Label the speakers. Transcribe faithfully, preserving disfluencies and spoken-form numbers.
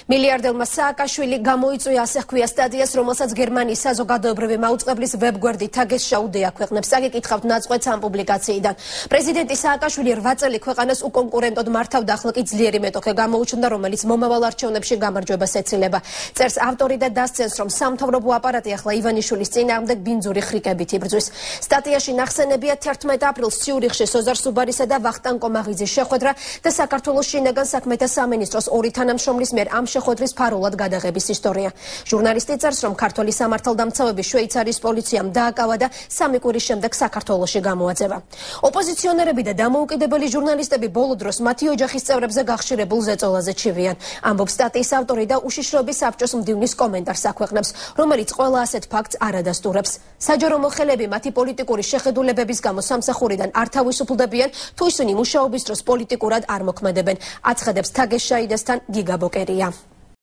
Speaker 1: მილიარდელმა სააკაშვილი გამოიწვია ასე ჰქვია სტატიას, რომელსაც გერმანიის საზოგადოებრივი მაუწყებლის ვებგვერდი Tagesschau-დი აქვეყნებს. Საგიკითხავთ ნაწყვეტს ამ პუბლიკაციიდან. პრეზიდენტი სააკაშვილი რვა წელი ქვეყანას უკონკურენტოდ მართავდა, ახლა კი ძლიერი მეტოქე გამოუჩნდა, რომელიც მომავალ არჩევნებში გამარჯვებას ეცილება. წერს ავტორი და დასცენს, რომ სამთავრობო აპარატი ახლა ივანიშვილის წინააღმდეგ ბინძური ხრიკებით იბრძვის. სტატიაში ნახსენებია თერთმეტ აპრილს ციურიხში სოზარ სუბარისა და ვახტანგ კომაღიძის შეხვედრა და საქართველოს შინაგან საქმეთა სამინისტროს ორი თანამშრომლის მიერ ამ შეხვედრის ფარულად გადაღების ისტორია. ჟურნალისტი წერს, რომ ქართველი სამართალდამცავები შვეიცარიის პოლიციამ დააკავა და სამი კვირის შემდეგ საქართველოში გამოაძევა. ოპოზიციონერები და დამოუკიდებელი ჟურნალისტები ბოლო დროს მათი ოჯახის წევრებზე გახშირებულ ზეწოლაზე ჩივიან. ამბობს სტატიის ავტორი და უშიშროების საბჭოს მდივნის კომენტარს აქვეყნებს, რომელიც ყველა ასეთ ფაქტს არ ადასტურებს. საჯარო მოხელეები მათი პოლიტიკური შეხედულებების გამო სამსახურიდან არ თავისუფლდებიან, თუ ისინი მუშაობის დროს პოლიტიკურად არ მოქმედებენ. აცხადებს Tagesschau-დასთან გიგა ბოკერია.